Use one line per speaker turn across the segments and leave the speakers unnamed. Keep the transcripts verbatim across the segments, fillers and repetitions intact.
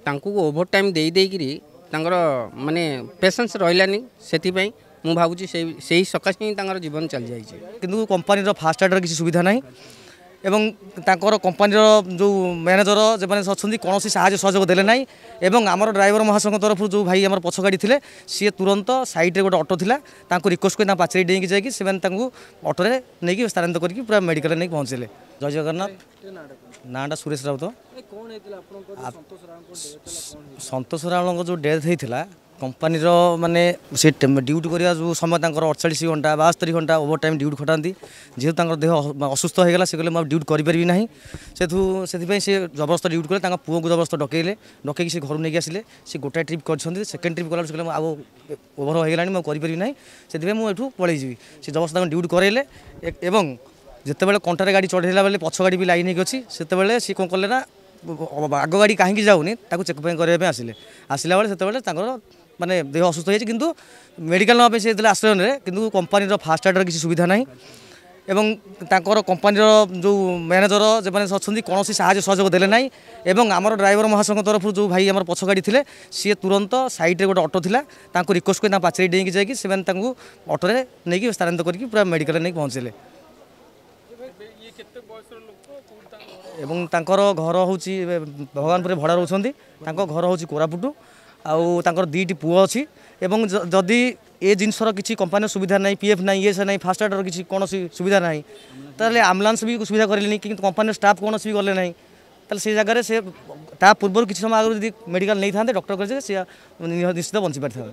ତାଙ୍କୁ over time ଦେଇ ଦେଇକିରି ତାଙ୍କର ମାନେ ପେସେନ୍ସ ରହିଲାନି, ସେଥିପାଇଁ ମୁଁ ଭାବୁଛି ସେଇ ସେଇ ସକାଶେ ହିଁ ତାଙ୍କର ଜୀବନ ଚାଲିଯାଇଛି।
କିନ୍ତୁ କମ୍ପାନୀର ଫାଷ୍ଟ ଏଡ଼୍ର କିଛି ସୁବିଧା ନାହିଁ ଏବଂ ତାଙ୍କର କମ୍ପାନୀର ଯେଉଁ ମ୍ୟାନେଜର ଯେଉଁମାନେ ଅଛନ୍ତି କୌଣସି ସାହାଯ୍ୟ ସହଯୋଗ ଦେଲେ ନାହିଁ। ଏବଂ ଆମର ଡ୍ରାଇଭର ମହାସଂଘ ତରଫରୁ ଯେଉଁ ଭାଇ ଆମର ପଛ ଗାଡ଼ି ଥିଲେ, ସିଏ ତୁରନ୍ତ ସାଇଡ଼୍ରେ ଗୋଟେ ଅଟୋ ଥିଲା, ତାଙ୍କୁ ରିକ୍ୱେଷ୍ଟ କରି ତାଙ୍କ ପାଚେରୀ ଡେଇଁକି ଯାଇକି ସେମାନେ ତାଙ୍କୁ ଅଟୋରେ ନେଇକି ସ୍ଥାନାନ୍ତର କରିକି ପୁରା ମେଡ଼ିକାଲରେ ନେଇକି ପହଞ୍ଚିଲେ। ଜୟ ଜଗନ୍ନାଥ। ନାଁଟା ସୁରେଶ ରାଉତ। ସନ୍ତୋଷ ରାଉଳଙ୍କ ଯେଉଁ ଡେଥ୍ ହେଇଥିଲା, କମ୍ପାନୀର ମାନେ ସେ ଡ୍ୟୁଟି କରିବା ଯେଉଁ ସମୟ ତାଙ୍କର ଅଠଚାଳିଶ ଘଣ୍ଟା, ବାସ୍ତରି ଘଣ୍ଟା ଓଭର ଟାଇମ୍ ଡ୍ୟୁଟି ଖଟାନ୍ତି। ଯେହେତୁ ତାଙ୍କର ଦେହ ଅସୁସ୍ଥ ହେଇଗଲା, ସେ କହିଲେ ମୁଁ ଆଉ ଡ୍ୟୁଟି କରିପାରିବି ନାହିଁ। ସେଠୁ ସେଥିପାଇଁ ସେ ଜବରଦସ୍ତ ଡ୍ୟୁଟି କଲେ। ତାଙ୍କ ପୁଅକୁ ଜବରଦସ୍ତ ଡକେଇଲେ, ଡକେଇକି ସେ ଘରୁ ନେଇକି ଆସିଲେ। ସେ ଗୋଟାଏ ଟ୍ରିପ୍ କରିଛନ୍ତି। ସେକେଣ୍ଡ ଟ୍ରିପ୍ କଲା, ସେ କହିଲେ ମୁଁ ଆଉ ଓଭର ହେଇଗଲାଣି, ମୁଁ ଆଉ କରିପାରିବି ନାହିଁ, ସେଥିପାଇଁ ମୁଁ ଏଠୁ ପଳେଇଯିବି। ସେ ଜବରଦସ୍ତ ତାଙ୍କୁ ଡ୍ୟୁଟି କରାଇଲେ ଏବଂ ଯେତେବେଳେ କଣ୍ଟାରେ ଗାଡ଼ି ଚଢ଼େଇଲା ବେଳେ ପଛ ଗାଡ଼ି ବି ଲାଇନ୍ ହେଇକି ଅଛି, ସେତେବେଳେ ସିଏ କ'ଣ କଲେ ନା ଆଗ ଗାଡ଼ି କାହିଁକି ଯାଉନି ତାକୁ ଚେକ୍ ପାଇଁ କରିବା ପାଇଁ ଆସିଲେ। ଆସିଲା ବେଳେ ସେତେବେଳେ ତାଙ୍କର ମାନେ ଦେହ ଅସୁସ୍ଥ ହେଇଯାଇଛି, କିନ୍ତୁ ମେଡ଼ିକାଲ ନେବା ପାଇଁ ସେ ଯେତେବେଳେ ଆଶ୍ରୟ ନେଲେ, କିନ୍ତୁ କମ୍ପାନୀର ଫାଷ୍ଟ ଏଡ଼୍ର କିଛି ସୁବିଧା ନାହିଁ ଏବଂ ତାଙ୍କର କମ୍ପାନୀର ଯେଉଁ ମ୍ୟାନେଜର ଯେଉଁମାନେ ଅଛନ୍ତି କୌଣସି ସାହାଯ୍ୟ ସହଯୋଗ ଦେଲେ ନାହିଁ। ଏବଂ ଆମର ଡ୍ରାଇଭର ମହାସଂଘ ତରଫରୁ ଯେଉଁ ଭାଇ ଆମର ପଛ ଗାଡ଼ି ଥିଲେ, ସିଏ ତୁରନ୍ତ ସାଇଡ଼୍ରେ ଗୋଟେ ଅଟୋ ଥିଲା, ତାଙ୍କୁ ରିକ୍ୱେଷ୍ଟ କରି ତାଙ୍କ ପାଚେରୀ ଡେଇଁକି ଯାଇକି ସେମାନେ ତାଙ୍କୁ ଅଟୋରେ ନେଇକି ସ୍ଥାନାନ୍ତର କରିକି ପୁରା ମେଡ଼ିକାଲରେ ନେଇକି ପହଞ୍ଚିଲେ। ଏବଂ ତାଙ୍କର ଘର ହେଉଛି ଭଗବାନପୁରରେ ଭଡ଼ା ରହୁଛନ୍ତି, ତାଙ୍କ ଘର ହେଉଛି କୋରାପୁଟ, ଆଉ ତାଙ୍କର ଦୁଇଟି ପୁଅ ଅଛି। ଏବଂ ଯଦି ଏ ଜିନିଷର କିଛି କମ୍ପାନୀର ସୁବିଧା ନାହିଁ, ପି ଏଫ୍ ନାହିଁ, ଇଏ ନାହିଁ, ଫାଷ୍ଟ ଏଡ଼୍ର କିଛି କୌଣସି ସୁବିଧା ନାହିଁ, ତାହେଲେ ଆମ୍ବୁଲାନ୍ସ ବି ସୁବିଧା କରିଲେନି, କିନ୍ତୁ କମ୍ପାନୀର ଷ୍ଟାଫ୍ କୌଣସି ବି ଗଲେ ନାହିଁ, ତାହେଲେ ସେ ଜାଗାରେ ସେ ତା ପୂର୍ବରୁ କିଛି ସମୟ ଆଗରୁ ଯଦି ମେଡ଼ିକାଲ ନେଇଥାନ୍ତେ, ଡକ୍ଟର କହିଲେ ସେ ନିଶ୍ଚିତ ବଞ୍ଚି ପାରିଥାନ୍ତେ।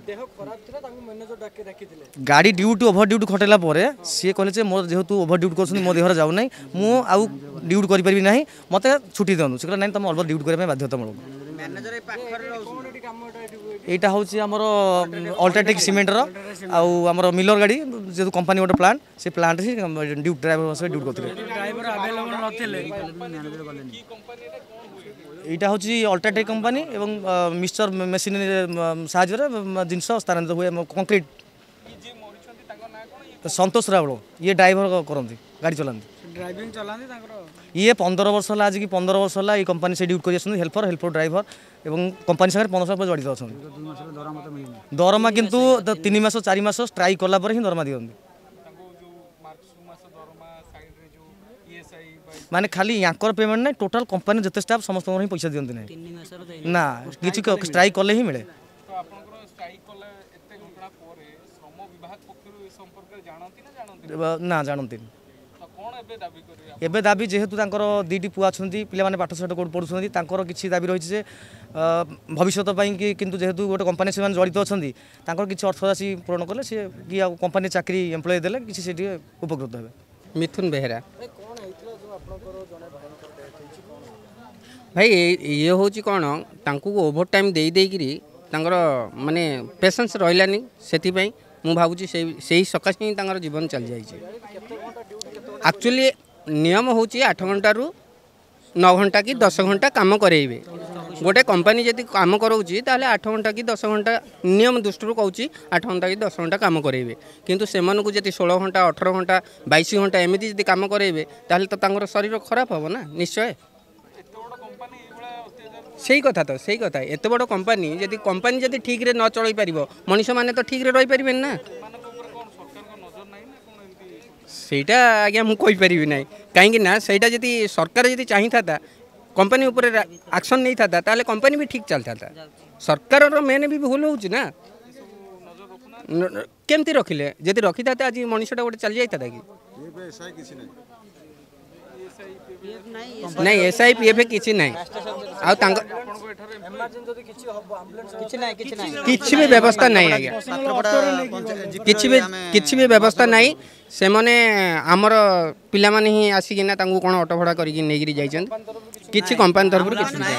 ଗାଡ଼ି ଡ୍ୟୁଟି ଓଭର ଡ୍ୟୁଟି ଖଟେଇଲା ପରେ ସିଏ କହିଲେ ଯେ ମୋର ଯେହେତୁ ଓଭର ଡ୍ୟୁଟି କରୁଛନ୍ତି, ମୋ ଦେହରେ ଯାଉନାହିଁ, ମୁଁ ଆଉ ଡ୍ୟୁଟି କରିପାରିବି ନାହିଁ, ମୋତେ ଛୁଟି ଦିଅନ୍ତୁ। ସେ କହିଲେ ନାଇଁ, ତୁମେ ଅଲ୍ପ ଡ୍ୟୁଟି କରିବା ପାଇଁ ବାଧ୍ୟତାମୂଳକ। ଏଇଟା ହେଉଛି ଆମର ଅଲ୍ଟ୍ରାଟେକ୍ ସିମେଣ୍ଟର ଆଉ ଆମର ମିଲର ଗାଡ଼ି, ଯେହେତୁ କମ୍ପାନୀ ଗୋଟେ ପ୍ଲାଣ୍ଟ, ସେ ପ୍ଲାଣ୍ଟରେ ସେ ଡ୍ୟୁଟି ଡ୍ରାଇଭର ସହ ଡ୍ୟୁଟି କରୁଥିଲେ। ଏଇଟା ହେଉଛି ଅଲ୍ଟ୍ରାଟେକ୍ କମ୍ପାନୀ ଏବଂ ମିକ୍ସଚର ମେସିନ୍ ସାହାଯ୍ୟରେ ଜିନିଷ ସ୍ଥାନାନ୍ତରିତ ହୁଏ କଂକ୍ରିଟ୍। ସନ୍ତୋଷ ରାଉଳ, ଇଏ ଡ୍ରାଇଭର କରନ୍ତି, ଗାଡ଼ି ଚଲାନ୍ତି।
ଡ୍ରାଇଭିଂ ଚଲାନ୍ତି ତାଙ୍କର।
ଇଏ ପନ୍ଦର ବର୍ଷ ହେଲା, ଆଜିକି ପନ୍ଦର ବର୍ଷ ହେଲା ଏଇ କମ୍ପାନୀ ସେ ଡ୍ୟୁଟି କରି ଆସୁଛନ୍ତି, ହେଲ୍ପର, ହେଲ୍ପର ଡ୍ରାଇଭର ଏବଂ କମ୍ପାନୀ ସାଙ୍ଗରେ ପନ୍ଦର ବର୍ଷ ଜଡ଼ିତ ଅଛନ୍ତି। ଦରମା କିନ୍ତୁ ତିନି ମାସ ଚାରି ମାସ ଷ୍ଟ୍ରାଇକ୍ କଲା ପରେ ହିଁ ଦରମା ଦିଅନ୍ତି। ମାନେ ଖାଲି ୟାଙ୍କର ପେମେଣ୍ଟ ନାହିଁ, ଟୋଟାଲ କମ୍ପାନୀ ଯେତେ ଷ୍ଟାଫ୍ ସମସ୍ତଙ୍କର ହିଁ ପଇସା ଦିଅନ୍ତି ନାହିଁ ନା, କିଛି ଷ୍ଟ୍ରାଇକ୍ କଲେ ହିଁ ମିଳେ। ନା, ଜାଣନ୍ତିନି। ଏବେ ଦାବି ଯେହେତୁ ତାଙ୍କର ଦୁଇଟି ପୁଅ ଅଛନ୍ତି, ପିଲାମାନେ ପାଠ ସାଠ କେଉଁଠି ପଢ଼ୁଛନ୍ତି, ତାଙ୍କର କିଛି ଦାବି ରହିଛି ଯେ ଭବିଷ୍ୟତ ପାଇଁ କି, କିନ୍ତୁ ଯେହେତୁ ଗୋଟେ କମ୍ପାନୀ ସେମାନେ ଜଡ଼ିତ ଅଛନ୍ତି, ତାଙ୍କର କିଛି ଅର୍ଥରାଶି ପୂରଣ କଲେ ସେ କି ଆଉ କମ୍ପାନୀ ଚାକିରି ଏମ୍ପ୍ଲୟ ଦେଲେ କିଛି ସେ ଟିକେ ଉପକୃତ ହେବେ।
ମିଥୁନ ବେହେରା। ଭାଇ, ଇଏ ହେଉଛି କ'ଣ, ତାଙ୍କୁ ଓଭର ଟାଇମ୍ ଦେଇ ଦେଇକିରି ତାଙ୍କର ମାନେ ପେସେନ୍ସ ରହିଲାନି, ସେଥିପାଇଁ ମୁଁ ଭାବୁଛି ସେଇ ସେଇ ସକାଶେ ହିଁ ତାଙ୍କର ଜୀବନ ଚାଲିଯାଇଛି। ଆକ୍ଚୁଆଲି ନିୟମ ହେଉଛି ଆଠ ଘଣ୍ଟାରୁ ନଅ ଘଣ୍ଟା କି ଦଶ ଘଣ୍ଟା କାମ କରେଇବେ। ଗୋଟେ କମ୍ପାନୀ ଯଦି କାମ କରାଉଛି ତାହେଲେ ଆଠ ଘଣ୍ଟା କି ଦଶ ଘଣ୍ଟା, ନିୟମ ଦୃଷ୍ଟିରୁ କହୁଛି, ଆଠ ଘଣ୍ଟା କି ଦଶ ଘଣ୍ଟା କାମ କରେଇବେ। କିନ୍ତୁ ସେମାନଙ୍କୁ ଯଦି ଷୋହଳ ଘଣ୍ଟା, ଅଠର ଘଣ୍ଟା, ବାଇଶ ଘଣ୍ଟା ଏମିତି ଯଦି କାମ କରେଇବେ, ତାହେଲେ ତ ତାଙ୍କର ଶରୀର ଖରାପ ହେବ ନା ନିଶ୍ଚୟ। ସେଇ କଥା ତ, ସେଇ କଥା। ଏତେ ବଡ଼ କମ୍ପାନୀ ଯଦି, କମ୍ପାନୀ ଯଦି ଠିକ୍ରେ ନ ଚଳେଇ ପାରିବ, ମଣିଷମାନେ ତ ଠିକ୍ରେ ରହିପାରିବେନି ନା। ସେଇଟା ଆଜ୍ଞା ମୁଁ କହିପାରିବି ନାହିଁ, କାହିଁକି ନା ସେଇଟା ଯଦି ସରକାର ଯଦି ଚାହିଁଥାନ୍ତା କମ୍ପାନୀ ଉପରେ ଆକ୍ସନ୍ ନେଇଥାନ୍ତା, ତାହେଲେ କମ୍ପାନୀ ବି ଠିକ୍ ଚାଲିଥାନ୍ତା। ସରକାରର ମେନ୍ ବି ଭୁଲ ହେଉଛି ନା, କେମିତି ରଖିଲେ? ଯଦି ରଖିଥାନ୍ତେ ଆଜି ମଣିଷଟା ଗୋଟେ ଚାଲି ଯାଇଥାନ୍ତା କି ନାଇଁ? ଏସ୍ I P F କିଛି ନାହିଁ, ଆଉ ତାଙ୍କ କିଛି ବି ବ୍ୟବସ୍ଥା ନାହିଁ ଆଜ୍ଞା, କିଛି ବି କିଛି ବି ବ୍ୟବସ୍ଥା ନାହିଁ। ସେମାନେ ଆମର ପିଲାମାନେ ହିଁ ଆସିକିନା ତାଙ୍କୁ କ'ଣ ଅଟୋ ଭଡ଼ା କରିକି ନେଇକିରି ଯାଇଛନ୍ତି। କିଛି କମ୍ପାନୀ ତରଫରୁ କିଛି ନାହିଁ।